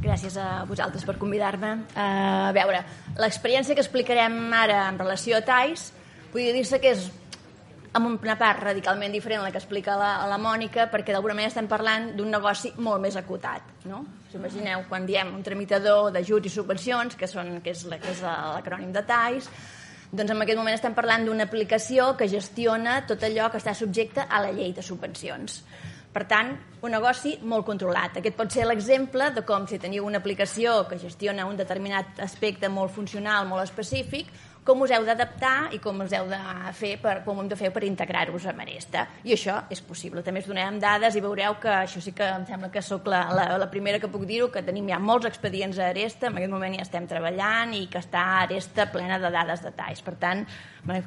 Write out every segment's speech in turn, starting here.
Gràcies a vosaltres per convidar-me. A veure, l'experiència que explicarem ara en relació a TAIS podria dir-se que és amb una part radicalment diferent a la que explica la Mònica, perquè d'alguna manera estem parlant d'un negoci molt més acotat, no? Us imagineu, quan diem un tramitador d'ajuts i subvencions, que és l'acrònim de TAIS, doncs en aquest moment estem parlant d'una aplicació que gestiona tot allò que està subjecte a la llei de subvencions. Per tant, un negoci molt controlat. Aquest pot ser l'exemple de com si teniu una aplicació que gestiona un determinat aspecte molt funcional, molt específic, com us heu d'adaptar i com us heu de fer com ho hem de fer per integrar-vos amb Aresta. I això és possible. També us donarem dades i veureu que això sí que em sembla que sóc la primera que puc dir-ho, que tenim ja molts expedients a Aresta, en aquest moment ja estem treballant i que està Aresta plena de dades de TAIS. Per tant,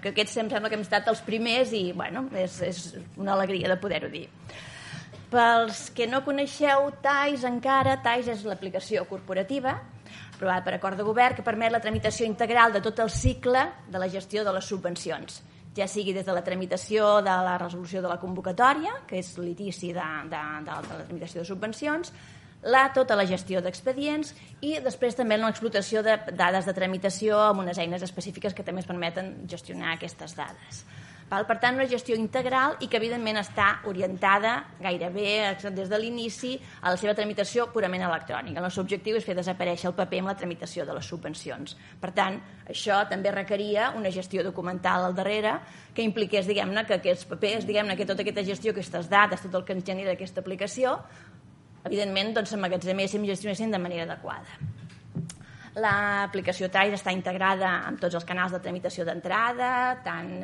que aquests em sembla que hem estat els primers i bueno, és una alegria de poder-ho dir. Pels que no coneixeu TAIS encara, TAIS és l'aplicació corporativa aprovada per acord de govern que permet la tramitació integral de tot el cicle de la gestió de les subvencions, ja sigui des de la tramitació de la resolució de la convocatòria, que és l'inici de la tramitació de subvencions, tota la gestió d'expedients i després també l'explotació de dades de tramitació amb unes eines específiques que també ens permeten gestionar aquestes dades. Per tant, una gestió integral i que evidentment està orientada gairebé des de l'inici a la seva tramitació purament electrònica. El nostre objectiu és fer desaparèixer el paper amb la tramitació de les subvencions. Per tant, això també requeria una gestió documental al darrere que impliqués, diguem-ne, que aquests papers, diguem-ne, que tota aquesta gestió, aquestes dades, tot el que ens genera aquesta aplicació, evidentment, doncs, s'emmagatzemessin i gestionessin de manera adequada. L'aplicació TAIS està integrada amb tots els canals de tramitació d'entrada, tant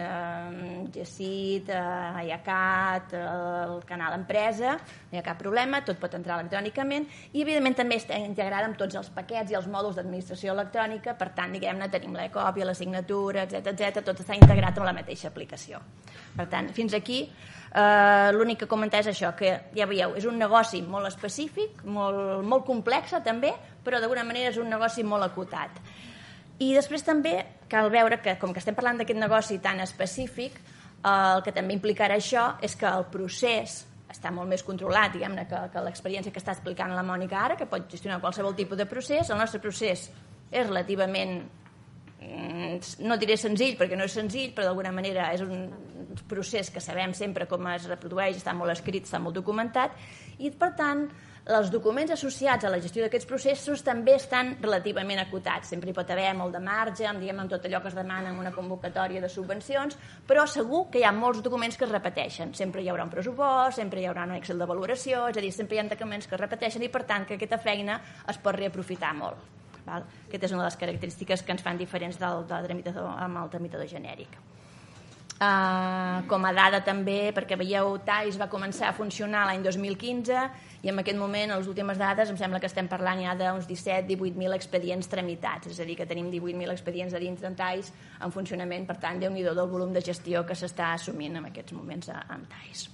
GECIT, IACAT, el canal empresa, no hi ha cap problema, tot pot entrar electrònicament i evidentment també està integrada amb tots els paquets i els mòduls d'administració electrònica, per tant, diguem-ne, tenim la còpia, la signatura, etc, tot està integrat amb la mateixa aplicació. Per tant, fins aquí l'únic que comentar és això, que ja veieu, és un negoci molt específic, molt complex també, però d'alguna manera és un negoci molt acotat. I després també cal veure que, com que estem parlant d'aquest negoci tan específic, el que també implicarà això és que el procés està molt més controlat, diguem-ne, que l'experiència que està explicant la Mònica ara, que pot gestionar qualsevol tipus de procés. El nostre procés és relativament, no diré senzill, perquè no és senzill, però d'alguna manera és un procés que sabem sempre com es reprodueix, està molt escrit, està molt documentat, i per tant els documents associats a la gestió d'aquests processos també estan relativament acotats. Sempre hi pot haver molt de marge, amb tot allò que es demana en una convocatòria de subvencions, però segur que hi ha molts documents que es repeteixen. Sempre hi haurà un pressupost, sempre hi haurà un Excel de valoració, és a dir, sempre hi ha documents que es repeteixen i per tant que aquesta feina es pot reaprofitar molt. Aquesta és una de les característiques que ens fan diferents del tramitador amb el tramitador genèric. Com a dada també, perquè veieu, TAIS va començar a funcionar l'any 2015 i en aquest moment, a les últimes dades, em sembla que estem parlant ja d'uns 17-18.000 expedients tramitats, és a dir, que tenim 18.000 expedients a dins d'en TAIS en funcionament, per tant, Déu-n'hi-do del volum de gestió que s'està assumint en aquests moments amb TAIS.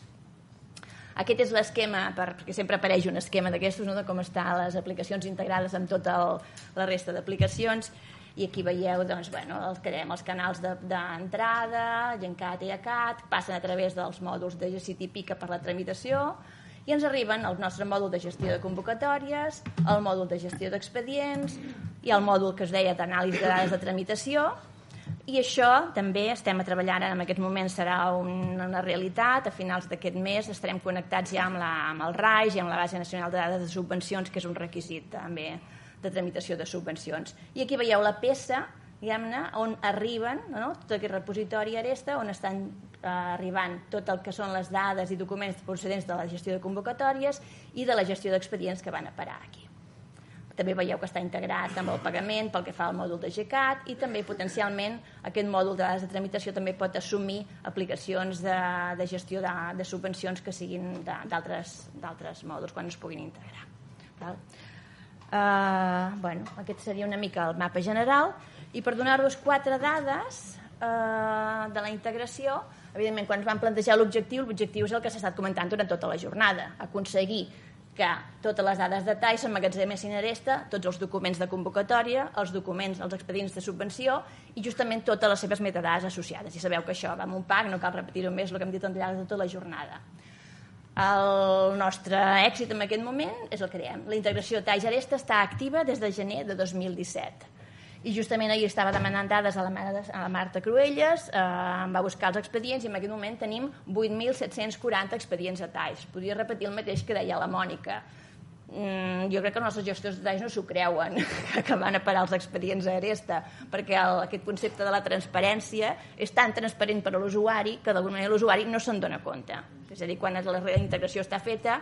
Aquest és l'esquema, perquè sempre apareix un esquema d'aquestos, de com estan les aplicacions integrades amb tota la resta d'aplicacions, i aquí veieu els canals d'entrada, GenCat i IACAT, passen a través dels mòduls de GECIT i PICA per la tramitació i ens arriben al nostre mòdul de gestió de convocatòries, el mòdul de gestió d'expedients i el mòdul que es deia d'anàlisi de dades de tramitació. I això també estem treballant en aquest moment, serà una realitat. A finals d'aquest mes estarem connectats ja amb el RAIS i amb la Base Nacional de Dades de Subvencions, que és un requisit també de tramitació de subvencions. I aquí veieu la peça, diguem-ne, on arriben, tot aquest repositori Aresta, on estan arribant tot el que són les dades i documents procedents de la gestió de convocatòries i de la gestió d'expedients que van a parar aquí. També veieu que està integrat amb el pagament pel que fa al mòdul de GCAT i també potencialment aquest mòdul de dades de tramitació també pot assumir aplicacions de gestió de subvencions que siguin d'altres mòduls quan es puguin integrar. Aquest seria una mica el mapa general i per donar-vos 4 dades de la integració, evidentment quan ens vam plantejar l'objectiu és el que s'ha estat comentant durant tota la jornada, aconseguir que totes les dades de TAIS s'emmagatzemessin a Aresta, tots els documents de convocatòria, els documents, els expedients de subvenció i justament totes les seves metadades associades. I sabeu que això va amb un pack, no cal repetir-ho més el que hem dit al llarg de tota la jornada. El nostre èxit en aquest moment és el que diem. La integració TAIS Aresta està activa des de gener de 2017. I justament ahir estava demanant dades a la Marta Cruelles, em va buscar els expedients i en aquest moment tenim 8.740 expedients a TAIS. Podria repetir el mateix que deia la Mònica. Jo crec que els nostres gestors de TAIS no s'ho creuen, que van a parar els expedients a Aresta, perquè aquest concepte de la transparència és tan transparent per a l'usuari que d'alguna manera l'usuari no se'n dona compte. És a dir, quan la integració està feta,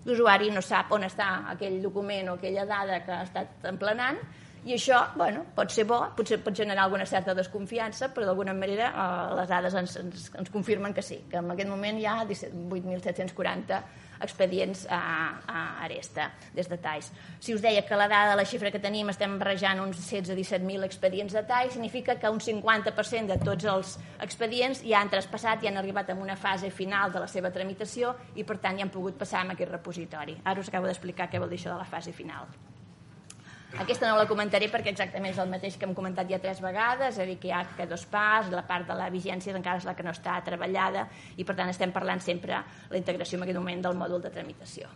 l'usuari no sap on està aquell document o aquella dada que ha estat emplenant, i això, bueno, pot ser bo, potser pot generar alguna certa desconfiança, però d'alguna manera les dades ens confirmen que sí, que en aquest moment hi ha 8.740 expedients a Aresta des de TAIS. Si us deia que la dada, la xifra que tenim, estem barrejant uns 16-17.000 expedients de TAIS, significa que un 50% de tots els expedients ja han traspassat i han arribat a una fase final de la seva tramitació i per tant ja han pogut passar en aquest repositori. Ara us acabo d'explicar què vol dir això de la fase final. Aquesta no la comentaré perquè exactament és el mateix que hem comentat ja 3 vegades, és a dir, que hi ha aquest 2 pas, la part de la vigència encara és la que no està treballada i per tant estem parlant sempre la integració en aquest moment del mòdul de tramitació.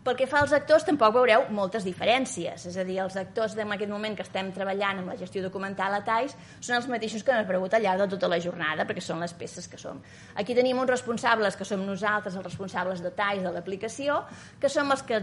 Pel que fa als actors, tampoc veureu moltes diferències, és a dir, els actors en aquest moment que estem treballant amb la gestió documental a TAIS són els mateixos que hem aparegut al llarg de tota la jornada, perquè són les peces que som. Aquí tenim uns responsables que som nosaltres, els responsables de TAIS de l'aplicació, que som els que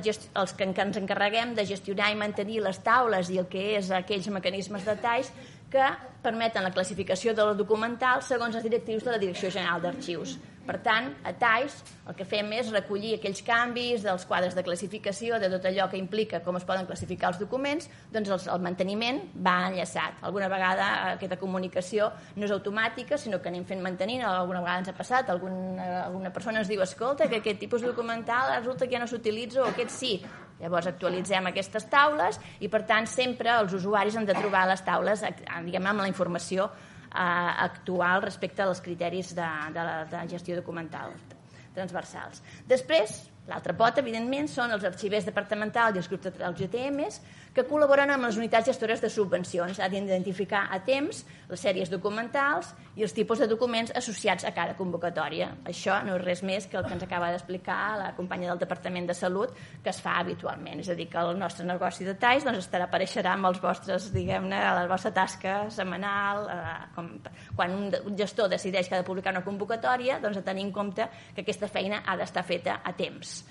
ens encarreguem de gestionar i mantenir les taules i el que és aquells mecanismes de TAIS que permeten la classificació de la documental segons els directius de la Direcció General d'Arxius. Per tant, a TAIS el que fem és recollir aquells canvis dels quadres de classificació, de tot allò que implica com es poden classificar els documents, doncs el manteniment va enllaçat. Alguna vegada aquesta comunicació no és automàtica, sinó que anem fent mantenint, alguna vegada ens ha passat, alguna persona ens diu, escolta, que aquest tipus documental resulta que ja no s'utilitza o aquest sí. Llavors actualitzem aquestes taules i per tant sempre els usuaris han de trobar les taules diguem, amb la informació actual respecte als criteris de gestió documental transversals. Després, l'altra pota, evidentment, són els arxivers departamentals i els grups dels GTMs que col·laboren amb les unitats gestores de subvencions. Han d'identificar a temps les sèries documentals i els tipus de documents associats a cada convocatòria. Això no és res més que el que ens acaba d'explicar la companya del Departament de Salut, que es fa habitualment. És a dir, que el nostre negoci de TAIS apareixerà amb els vostres, diguem-ne, a la vostra tasca setmanal. Quan un gestor decideix que ha de publicar una convocatòria, doncs a tenir en compte que aquesta feina ha d'estar feta a temps.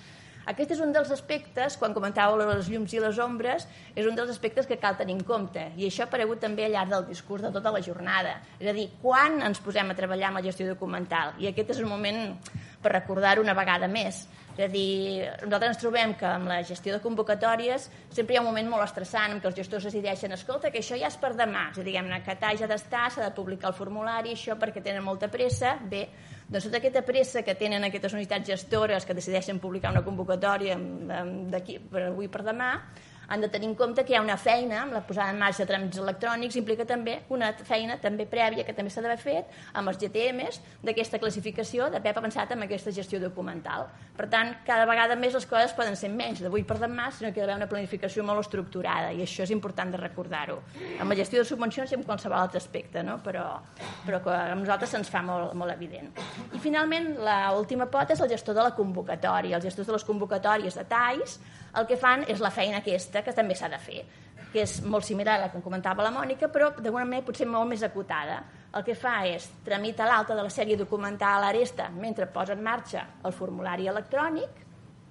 Aquest és un dels aspectes, quan comentàveu les llums i les ombres, és un dels aspectes que cal tenir en compte. I això ha aparegut també al llarg del discurs de tota la jornada. És a dir, quan ens posem a treballar amb la gestió documental? I aquest és un moment per recordar-ho una vegada més. És a dir, nosaltres ens trobem que amb la gestió de convocatòries sempre hi ha un moment molt estressant en què els gestors decideixen, escolta, que això ja és per demà. És a dir, diguem-ne, que TAIS ha d'estar, s'ha de publicar el formulari, això perquè tenen molta pressa. Bé, doncs tota aquesta pressa que tenen aquestes unitats gestores que decideixen publicar una convocatòria d'aquí per avui per demà, han de tenir en compte que hi ha una feina amb la posada en marxa de tràmits electrònics, implica també una feina també prèvia que també s'ha d'haver fet amb els GTMs d'aquesta classificació, d'haver pensat en aquesta gestió documental. Per tant, cada vegada més les coses poden ser menys d'avui per demà, sinó que hi ha d'haver una planificació molt estructurada i això és important de recordar-ho. Amb la gestió de subvencions i amb qualsevol altre aspecte, no? però que a nosaltres se'ns fa molt evident. I finalment, l'última pota és el gestor de la convocatòria. Els gestors de les convocatòries de TAIS el que fan és la feina aquesta que també s'ha de fer, que és molt similar a la que comentava la Mònica, però d'alguna manera potser molt més acotada. El que fa és tramitar l'alta de la sèrie documental a Aresta mentre posa en marxa el formulari electrònic,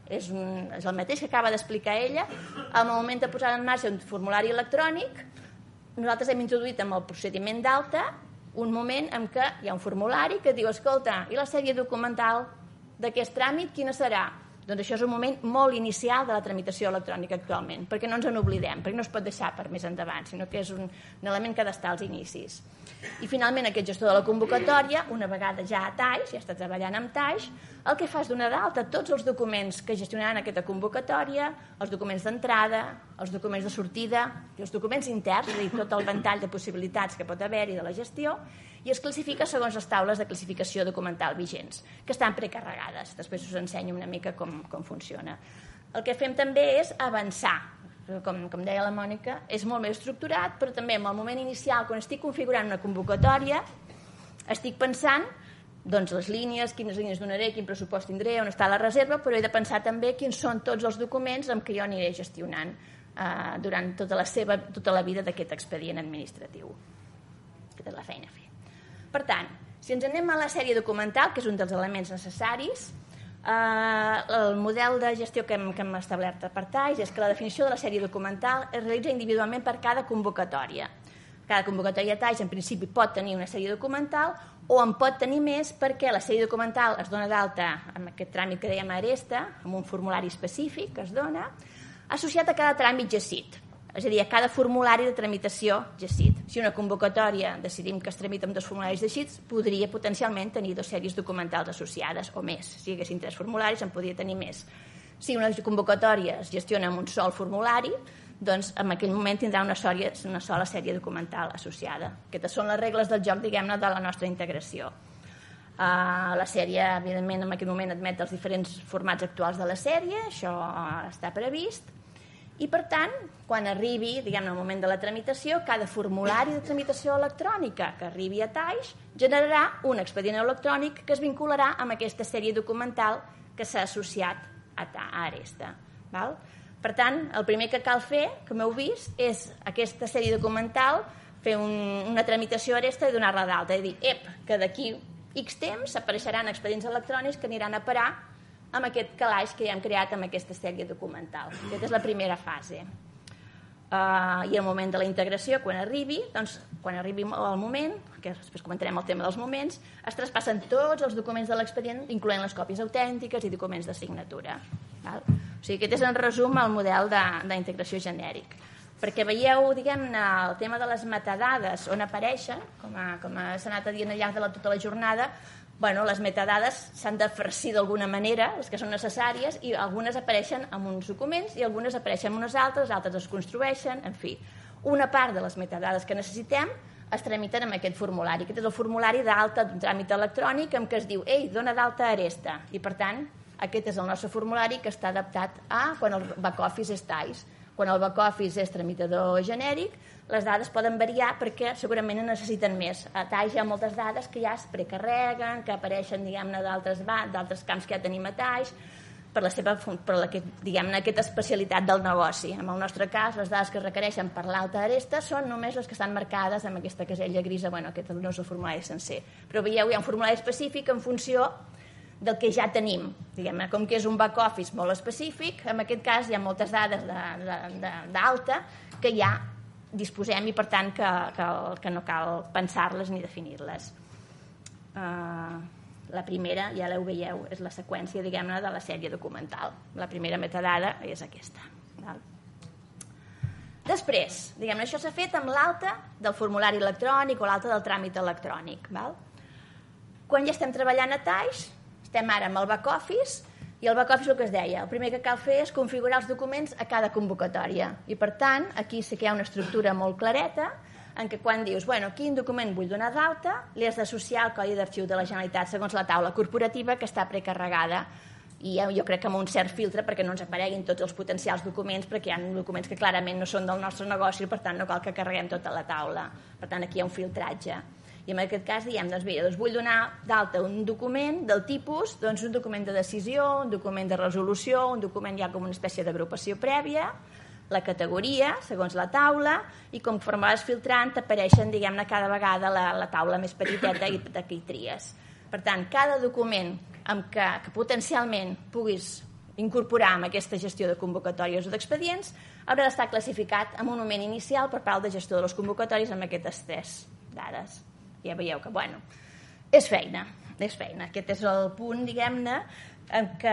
és el mateix que acaba d'explicar ella. Al moment de posar en marxa un formulari electrònic, nosaltres hem introduït amb el procediment d'alta un moment en què hi ha un formulari que diu, escolta, i la sèrie documental d'aquest tràmit quina serà? Doncs això és un moment molt inicial de la tramitació electrònica actualment, perquè no ens en oblidem, perquè no es pot deixar per més endavant, sinó que és un element que ha d'estar als inicis. I finalment aquest gestor de la convocatòria, una vegada ja a TAIS, ja està treballant amb TAIS, el que fa és donar d'alta tots els documents que gestionaran aquesta convocatòria, els documents d'entrada, els documents de sortida i els documents interns, és a dir, tot el ventall de possibilitats que pot haver-hi de la gestió, i es classifica segons les taules de classificació documental vigents, que estan precarregades. Després us ensenyo una mica com funciona. El que fem també és avançar. Com deia la Mònica, és molt més estructurat, però també en el moment inicial, quan estic configurant una convocatòria, estic pensant doncs les línies, quines línies donaré, quin pressupost tindré, on està la reserva, però he de pensar també quins són tots els documents amb què jo aniré gestionant durant tota la vida d'aquest expedient administratiu. Aquesta és la feina a fer. Per tant, si ens anem a la sèrie documental, que és un dels elements necessaris, el model de gestió que hem establert per TAIS és que la definició de la sèrie documental es realitza individualment per cada convocatòria. Cada convocatòria TAIS en principi pot tenir una sèrie documental o en pot tenir més perquè la sèrie documental es dona d'alta amb aquest tràmit que dèiem Aresta, amb un formulari específic que es dona, associat a cada tràmit GESIT, és a dir, a cada formulari de tramitació GESIT. Si una convocatòria decidim que es tramita amb 2 formularis GESIT, podria potencialment tenir 2 sèries documentals associades o més. Si hi haguessin 3 formularis, en podria tenir més. Si una convocatòria es gestiona amb un sol formulari, doncs en aquell moment tindrà una sola sèrie documental associada. Aquestes són les regles del joc, diguem-ne, de la nostra integració. La sèrie, evidentment, en aquell moment admet els diferents formats actuals de la sèrie, això està previst, i per tant, quan arribi, diguem-ne, el moment de la tramitació, cada formulari de tramitació electrònica que arribi a TAIS generarà un expedient electrònic que es vincularà amb aquesta sèrie documental que s'ha associat a Aresta. Val? Per tant, el primer que cal fer, com heu vist, és aquesta sèrie documental, fer una tramitació Aresta i donar-la d'alta. És a dir, que d'aquí X temps apareixeran expedients electrònics que aniran a parar amb aquest calaix que ja hem creat amb aquesta sèrie documental. Aquesta és la primera fase. I el moment de la integració, quan arribi el moment, que després comentarem el tema dels moments, es traspassen tots els documents de l'expedient, incloent les còpies autèntiques i documents de signatura. O sigui, aquest és en resum el model d'integració genèric. Perquè veieu, diguem-ne, el tema de les metadades on apareixen, com s'ha anat a dir al llarg de tota la jornada, les metadades s'han de farcir d'alguna manera, les que són necessàries, i algunes apareixen en uns documents i algunes apareixen en unes altres es construeixen, en fi. Una part de les metadades que necessitem es tramiten amb aquest formulari. Aquest és el formulari d'alta d'un tràmit electrònic en què es diu dona d'alta Aresta. I, per tant, aquest és el nostre formulari que està adaptat a quan el back-office és TAIS. Quan el back-office és tramitador genèric, les dades poden variar perquè segurament en necessiten més. A TAIS hi ha moltes dades que ja es precarreguen, que apareixen, diguem-ne, d'altres camps que ja tenim a TAIS, per aquesta especialitat del negoci. En el nostre cas, les dades que es requereixen per l'alta Aresta són només les que estan marcades amb aquesta casella grisa. Aquest no és el formulari sencer. Però veieu, hi ha un formulari específic en funció del que ja tenim. Diguem-ne, com que és un back-office molt específic, en aquest cas hi ha moltes dades d'alta que ja disposem i, per tant, que no cal pensar-les ni definir-les. La primera, ja la veieu, és la seqüència, diguem-ne, de la sèrie documental. La primera metadada és aquesta. Després, diguem-ne, això s'ha fet amb l'alta del formulari electrònic o l'alta del tràmit electrònic. Quan ja estem treballant a TAIS, estem ara amb el back-office, i el back-office el que es deia, el primer que cal fer és configurar els documents a cada convocatòria. I, per tant, aquí sí que hi ha una estructura molt clareta, en què quan dius, quin document vull donar d'alta, li has d'associar el codi d'arxiu de la Generalitat segons la taula corporativa que està precarregada. I jo crec que amb un cert filtre perquè no ens apareguin tots els potencials documents, perquè hi ha documents que clarament no són del nostre negoci i, per tant, no cal que carreguem tota la taula. Per tant, aquí hi ha un filtratge. I en aquest cas diem, vull donar d'alta un document del tipus, un document de decisió, un document de resolució, un document ja com una espècie d'agrupació prèvia, la categoria, segons la taula, i conforme vas filtrant t'apareixen, diguem-ne, cada vegada la taula més petiteta i d'aquí tries. Per tant, cada document que potencialment puguis incorporar en aquesta gestió de convocatòries o d'expedients haurà d'estar classificat amb un moment inicial per part del gestor de les convocatòries amb aquestes 3 dades. Ja veieu que, és feina. Aquest és el punt, diguem-ne, que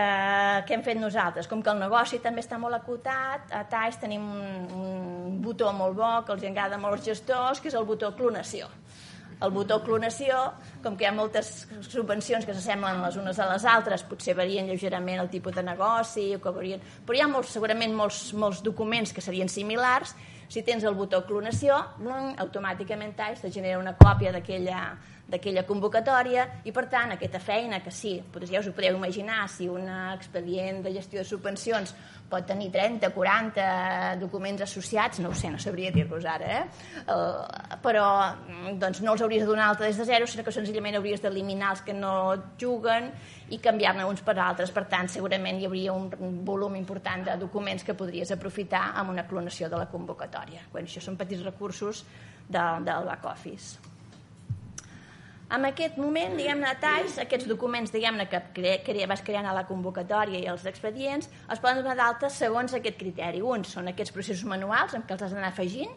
hem fet nosaltres. Com que el negoci també està molt acotat, a TAIS tenim un botó molt bo que els agrada molt als gestors, que és el botó clonació. El botó clonació, com que hi ha moltes subvencions que s'assemblen les unes a les altres, potser varien lleugerament el tipus de negoci, però hi ha segurament molts documents que serien similars. Si tens el botó clonació, automàticament TAIS te genera una còpia d'aquella convocatòria i, per tant, aquesta feina que sí, ja us ho podeu imaginar, si un expedient de gestió de subvencions pot tenir 30, 40 documents associats, no ho sé, no sabria dir-vos ara, però doncs no els hauries de donar alta des de zero, sinó que senzillament hauries d'eliminar els que no juguen i canviar-ne uns per altres. Per tant, segurament hi hauria un volum important de documents que podries aprofitar amb una clonació de la convocatòria. Bueno, això són petits recursos del back-office. En aquest moment, diguem-ne, a TAIS, aquests documents, diguem-ne, que vas creant a la convocatòria i els expedients, es poden donar d'alta segons aquest criteri. Uns són aquests processos manuals en què els has d'anar afegint,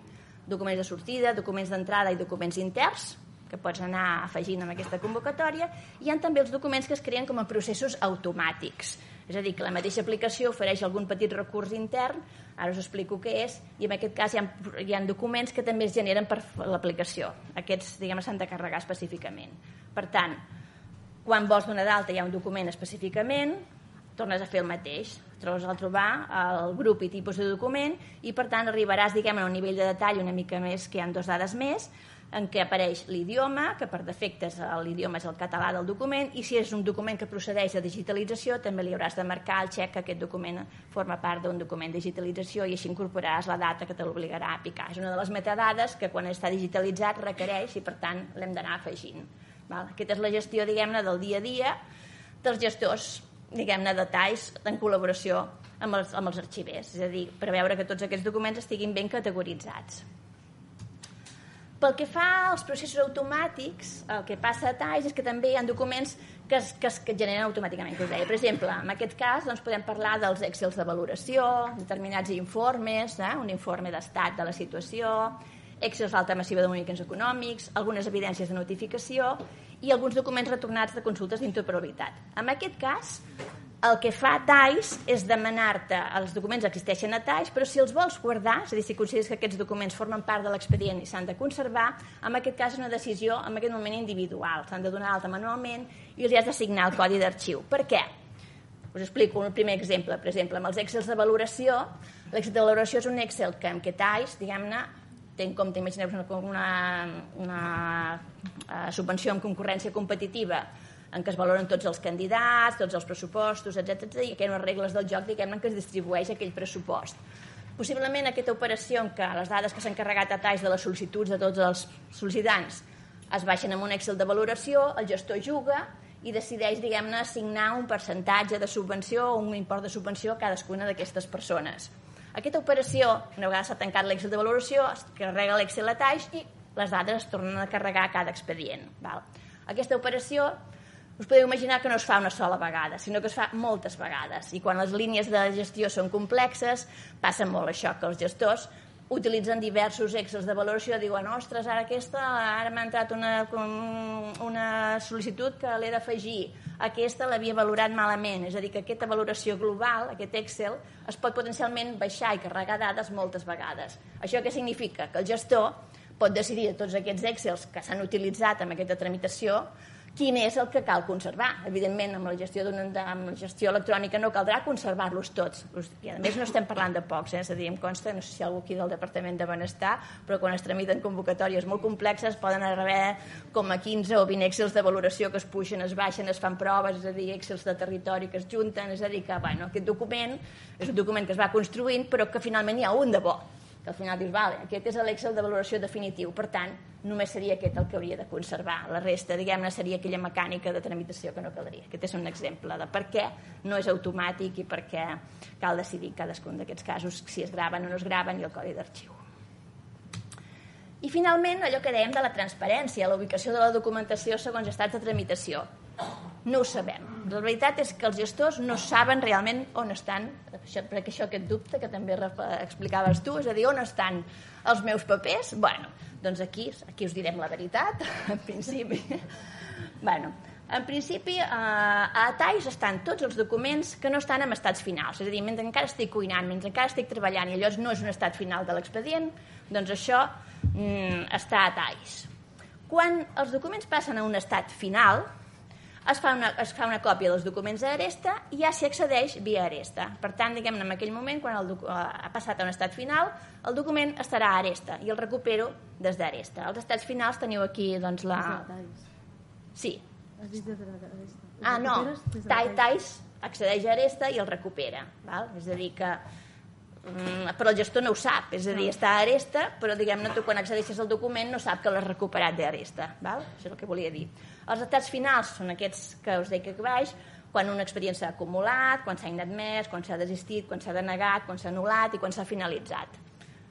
documents de sortida, documents d'entrada i documents interns, que pots anar afegint en aquesta convocatòria. Hi ha també els documents que es creen com a processos automàtics. És a dir, que la mateixa aplicació ofereix algun petit recurs intern, ara us explico què és, i en aquest cas hi ha documents que també es generen per l'aplicació. Aquests, diguem, s'han de carregar específicament. Per tant, quan vols donar d'alta hi ha un document específicament, tornes a fer el mateix, trobes al trobar el grup i tipus de document i, per tant, arribaràs, diguem, a un nivell de detall una mica més, que hi ha 2 dades més, en què apareix l'idioma, que per defecte l'idioma és el català del document, i si és un document que procedeix de digitalització també li hauràs de marcar el xec que aquest document forma part d'un document de digitalització i així incorporaràs la data que te l'obligarà a picar. És una de les metadades que quan està digitalitzat requereix i per tant l'hem d'anar afegint. Aquesta és la gestió, diguem-ne, del dia a dia dels gestors, diguem-ne, de TAIS en col·laboració amb els arxivers, és a dir, per veure que tots aquests documents estiguin ben categoritzats. Pel que fa als processos automàtics, el que passa a TAIS és que també hi ha documents que es generen automàticament, que us deia. Per exemple, en aquest cas podem parlar dels Excels de valoració, determinats informes, un informe d'estat de la situació, Excels d'alta massiva de moviments econòmics, algunes evidències de notificació i alguns documents retornats de consultes d'interoperabilitat. En aquest cas, el que fa TAIS és demanar-te, els documents existeixen a TAIS, però si els vols guardar, és a dir, si consideres que aquests documents formen part de l'expedient i s'han de conservar, en aquest cas és una decisió en aquest moment individual, s'han de donar alta manualment i els has d'assignar el codi d'arxiu. Per què? Us explico un primer exemple. Per exemple, amb els Excels de valoració, l'Excel de valoració és un Excel que amb què TAIS, diguem-ne, té en compte, imagineu-vos una subvenció amb concurrència competitiva en què es valoren tots els candidats, tots els pressupostos, etc. I aquí hi ha unes regles del joc, diguem-ne, que es distribueix aquell pressupost. Possiblement aquesta operació en què les dades que s'han carregat a TAIS de les sol·licituds de tots els sol·licitants es baixen en un Excel de valoració, el gestor juga i decideix, diguem-ne, assignar un percentatge de subvenció o un import de subvenció a cadascuna d'aquestes persones. Aquesta operació, una vegada s'ha tancat l'Excel de valoració, es carrega l'Excel a TAIS i les dades es tornen a carregar a cada expedient. Aquesta operació us podeu imaginar que no es fa una sola vegada, sinó que es fa moltes vegades. I quan les línies de gestió són complexes, passa molt això, que els gestors utilitzen diversos Excels de valoració, diuen, ostres, ara m'ha entrat una sol·licitud que l'he d'afegir, aquesta l'havia valorat malament, és a dir, que aquesta valoració global, aquest Excel, es pot potencialment baixar i carregar dades moltes vegades. Això què significa? Que el gestor pot decidir de tots aquests Excels que s'han utilitzat en aquesta tramitació quin és el que cal conservar. Evidentment, amb la gestió electrònica no caldrà conservar-los tots. I a més no estem parlant de pocs, és a dir, em consta, no sé si algú aquí del Departament de Benestar, però quan es tramiten convocatòries molt complexes poden haver com a 15 o 20 Excels de valoració que es pugen, es baixen, es fan proves, és a dir, Excels de territori que es junten, és a dir, que aquest document és un document que es va construint però que finalment hi ha un de bo, que al final dius, vale, aquest és l'Excel de valoració definitiu, per tant, només seria aquest el que hauria de conservar. La resta, diguem-ne, seria aquella mecànica de tramitació que no caldria. Aquest és un exemple de per què no és automàtic i per què cal decidir cadascun d'aquests casos si es graven o no es graven i el codi d'arxiu. I finalment, allò que dèiem de la transparència, la ubicació de la documentació segons estats de tramitació. No ho sabem. La veritat és que els gestors no saben realment on estan, perquè aquest dubte que també explicaves tu, és a dir, on estan els meus papers? Bueno, doncs aquí us direm la veritat, en principi. En principi, a TAIS estan tots els documents que no estan en estats finals, és a dir, mentre encara estic cuinant, mentre encara estic treballant i allò no és un estat final de l'expedient, doncs això està a TAIS. Quan els documents passen a un estat final, es fa una còpia dels documents d'Aresta i ja s'hi accedeix via Aresta. Per tant, diguem-ne, en aquell moment, quan ha passat a un estat final, el document estarà a Aresta i el recupero des d'Aresta. Els estats finals teniu aquí, doncs, la... Sí. Has dit des d'Aresta. Ah, no. TAIS accedeix a Aresta i el recupera. És a dir, que... però el gestor no ho sap, és a dir, està a Aresta, però diguem-ne, tu quan accedeixes al document no sap que l'has recuperat d'Aresta. Això és el que volia dir. Els estats finals són aquests que us dic aquí baix, quan un expedient s'ha acumulat, quan s'ha inadmès, quan s'ha desistit, quan s'ha denegat, quan s'ha anul·lat i quan s'ha finalitzat.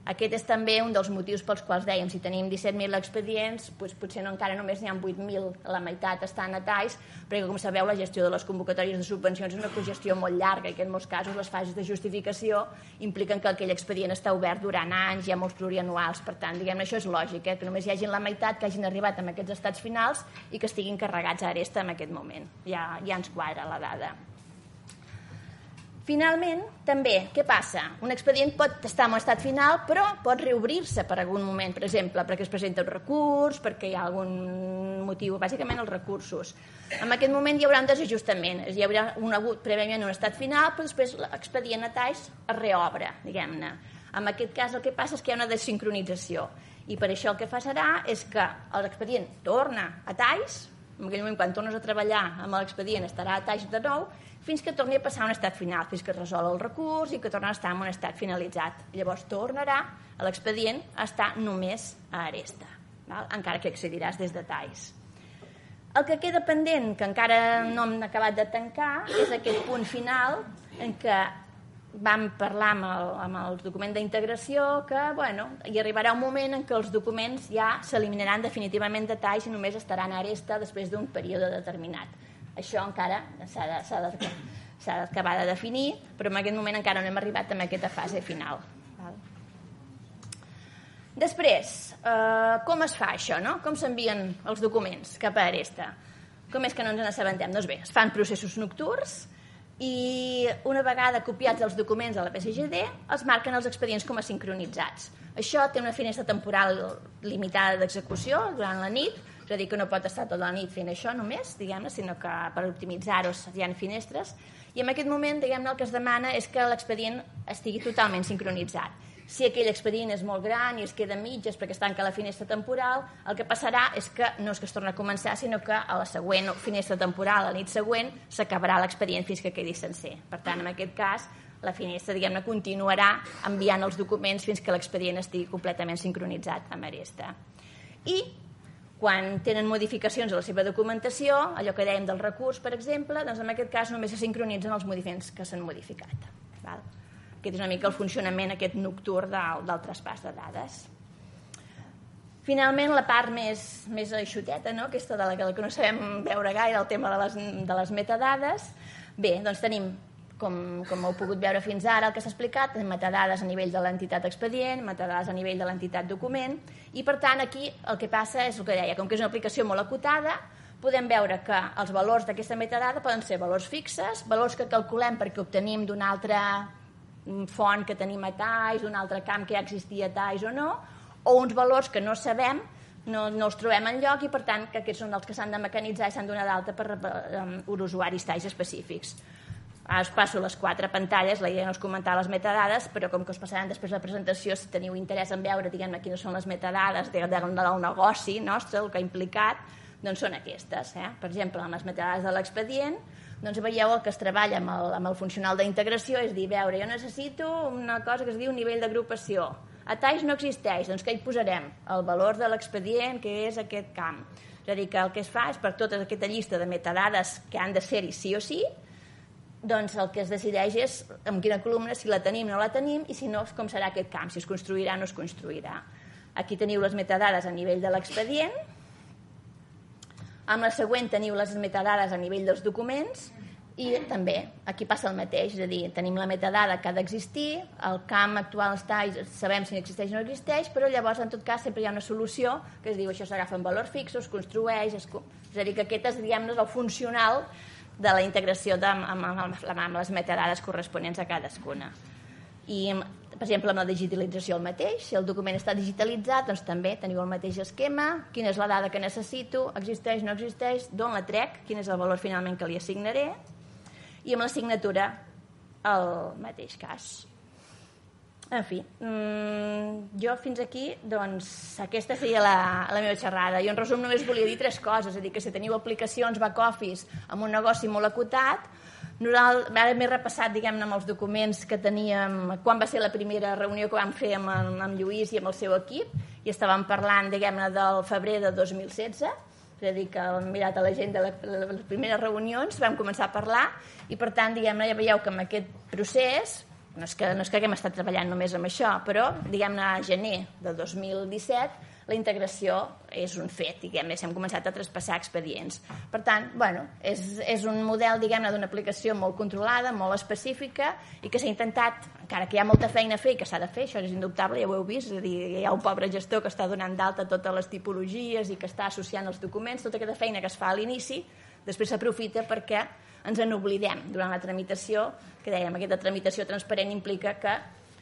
Aquest és també un dels motius pels quals dèiem, si tenim 17.000 expedients, doncs potser encara només n'hi ha 8.000, la meitat estan a TAIS, perquè com sabeu la gestió de les convocatòries de subvencions és una cogestió molt llarga i que en molts casos les fases de justificació impliquen que aquell expedient està obert durant anys, hi ha molts plurianuals, per tant, diguem-ne, això és lògic, que només hi hagin la meitat que hagin arribat amb aquests estats finals i que estiguin carregats a Aresta en aquest moment. Ja ens quadra la dada. Finalment, també, què passa? Un expedient pot estar en un estat final, però pot reobrir-se per algun moment, per exemple, perquè es presenta un recurs, perquè hi ha algun motiu, bàsicament els recursos. En aquest moment hi haurà un desajustament, hi haurà hagut prèviament un estat final, però després l'expedient a TAIS es reobre, diguem-ne. En aquest cas el que passa és que hi ha una desincronització, i per això el que farà és que l'expedient torna a TAIS, en aquell moment quan tornes a treballar amb l'expedient estarà a TAIS de nou, fins que torni a passar a un estat final, fins que es resol el recurs i que torna a estar en un estat finalitzat. Llavors tornarà l'expedient a estar només a Aresta, encara que accediràs des de TAIS. El que queda pendent, que encara no hem acabat de tancar, és aquest punt final en què vam parlar amb el document d'integració que, hi arribarà un moment en què els documents ja s'eliminaran definitivament de TAIS i només estaran a Aresta després d'un període determinat. Això encara s'ha d'acabar de definir, però en aquest moment encara no hem arribat a aquesta fase final. Després, com es fa això? Com s'envien els documents cap a Aresta? Com és que no ens n'assabentem? Doncs bé, es fan processos nocturns i una vegada copiats els documents a la PSGD els marquen els expedients com a sincronitzats. Això té una finestra temporal limitada d'execució durant la nit, és a dir, que no pot estar tota la nit fent això només, diguem-ne, sinó que per optimitzar-ho hi ha finestres, i en aquest moment, diguem-ne, el que es demana és que l'expedient estigui totalment sincronitzat. Si aquell expedient és molt gran i es queda a mitges perquè es tanca la finestra temporal, el que passarà és que no és que es torni a començar, sinó que a la següent finestra temporal, a la nit següent, s'acabarà l'expedient fins que quedi sencer. Per tant, en aquest cas, la finestra, diguem-ne, continuarà enviant els documents fins que l'expedient estigui completament sincronitzat amb Aresta. I quan tenen modificacions a la seva documentació, allò que dèiem del recurs, per exemple, doncs en aquest cas només se sincronitzen els moviments que s'han modificat. Aquest és una mica el funcionament aquest nocturn del traspàs de dades. Finalment, la part més eixuteta, aquesta de la que no sabem veure gaire, el tema de les metadades. Bé, doncs tenim, com heu pogut veure fins ara, el que s'ha explicat, metadades a nivell de l'entitat expedient, metadades a nivell de l'entitat document, i per tant aquí el que passa és el que deia, com que és una aplicació molt acotada, podem veure que els valors d'aquesta metadada poden ser valors fixes, valors que calculem perquè obtenim d'una altra font que tenim a TAIS, d'un altre camp que ja existia a TAIS o no, o uns valors que no sabem, no els trobem enlloc i per tant que aquests són els que s'han de mecanitzar i s'han de donar d'alta per usuaris TAIS específics. Ara us passo les 4 pantalles, la idea no és comentar les metadades, però com que us passaran després de la presentació, si teniu interès en veure, diguem-ne, quines són les metadades del negoci nostre, el que ha implicat, doncs són aquestes. Per exemple, en les metadades de l'expedient, doncs veieu el que es treballa amb el funcional d'integració, és dir, veure, jo necessito una cosa que es diu nivell d'agrupació. A TAIS no existeix, doncs què hi posarem? El valor de l'expedient, que és aquest camp. És a dir, que el que es fa és per tota aquesta llista de metadades que han de ser-hi sí o sí, doncs el que es decideix és en quina columna, si la tenim o no la tenim, i si no, com serà aquest camp, si es construirà o no es construirà. Aquí teniu les metadades a nivell de l'expedient, amb la següent teniu les metadades a nivell dels documents, i també aquí passa el mateix, és a dir, tenim la metadada que ha d'existir, el camp actual sabem si existeix o no existeix, però llavors en tot cas sempre hi ha una solució que es diu això s'agafa en valors fixos, es construeix, és a dir, que aquest és, diguem-ne, el funcional de la integració amb les metadades corresponents a cadascuna. I Per exemple, amb la digitalització el mateix. Si el document està digitalitzat, doncs també teniu el mateix esquema. Quina és la dada que necessito? Existeix, no existeix? D'on la trec? Quin és el valor finalment que li assignaré? I amb la signatura el mateix cas. En fi, jo fins aquí, doncs, aquesta seria la meva xerrada. Jo en resum només volia dir 3 coses, és a dir, que si teniu aplicacions back-office amb un negoci molt acotat, ara m'he repassat, diguem-ne, amb els documents que teníem, quan va ser la primera reunió que vam fer amb Lluís i amb el seu equip, i estàvem parlant, diguem-ne, del febrer de 2016, és a dir, que hem mirat a l'agenda de les primeres reunions, vam començar a parlar, i per tant, diguem-ne, ja veieu que amb aquest procés, no és que haguem estat treballant només amb això, però, diguem-ne, a gener del 2017, la integració és un fet, diguem-ne, hem començat a traspassar expedients. Per tant, bueno, és un model, diguem-ne, d'una aplicació molt controlada, molt específica, i que s'ha intentat, encara que hi ha molta feina a fer i que s'ha de fer, això és indubtable, ja ho heu vist, és a dir, hi ha un pobre gestor que està donant d'alta totes les tipologies i que està associant els documents, tota aquesta feina que es fa a l'inici, després s'aprofita perquè ens en oblidem durant la tramitació, que dèiem, aquesta tramitació transparent implica que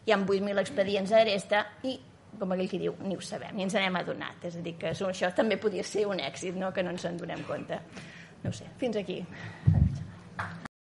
hi ha 8.000 expedients a Aresta i, com aquell qui diu, ni ho sabem, ni ens n'hem adonat. És a dir, que això també podria ser un èxit, no? Que no ens en donem compte. No ho sé, fins aquí.